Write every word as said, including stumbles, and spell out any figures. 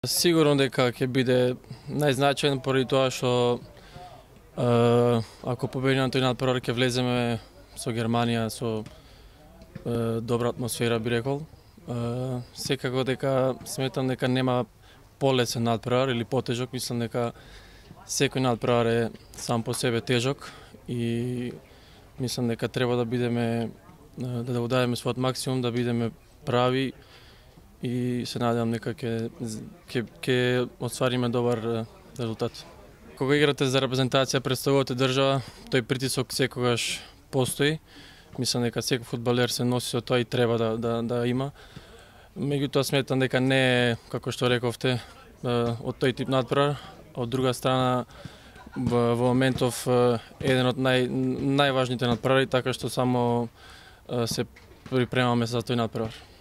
Сигурно дека ќе биде најзначаен поради тоа што е, ако победиме на тој надпревар ќе влеземе со Германија со е, добра атмосфера, би рекол. Е, секако дека сметам дека нема полесен надпревар или потежок, мислам дека секој надпревар е сам по себе тежок и мислам дека треба да бидеме да да удадеме својот максимум, да бидеме прави и се надевам дека ќе ќе ќе оствариме добар резултат. Кога играте за репрезентација пред својата држава, тој притисок секогаш постои. Мислам дека секој фудбалер се носи со тоа и треба да да да има. Меѓутоа сметам дека не е, како што рековте, од тој тип надпревар. Од друга страна, во моментов еден од нај најважните надпревари, така што само се припремаме за тој надпревар.